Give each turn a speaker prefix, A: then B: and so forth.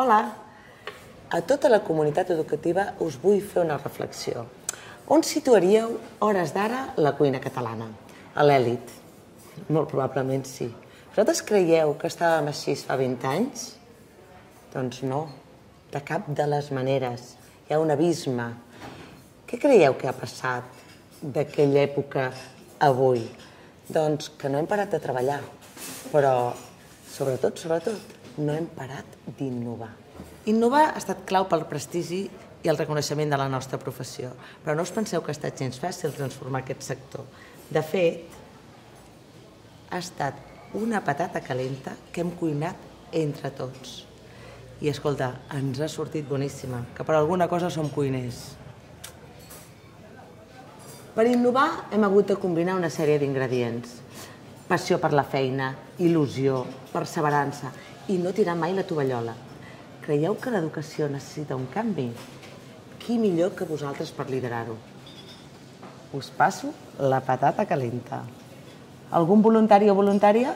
A: Hola! A tota la comunitat educativa us vull fer una reflexió. On situaríeu, hores d'ara, la cuina catalana? A l'èlit? Molt probablement sí. Vosaltres creieu que estàvem així fa 20 anys? Doncs no, de cap de les maneres. Hi ha un abisme. Què creieu que ha passat d'aquella època a avui? Doncs que no hem parat de treballar, però sobretot, no hem parat d'innovar. Innovar ha estat clau pel prestigi i el reconeixement de la nostra professió, però no us penseu que ha estat gens fàcil transformar aquest sector. De fet, ha estat una patata calenta que hem cuinat entre tots. I escolta, ens ha sortit boníssima, que per alguna cosa som cuiners. Per innovar hem hagut de combinar una sèrie d'ingredients. Passió per la feina, il·lusió, perseverança i no tirar mai la tovallola. Creieu que l'educació necessita un canvi? Qui millor que vosaltres per liderar-ho? Us passo la patata calenta. Algun voluntari o voluntària?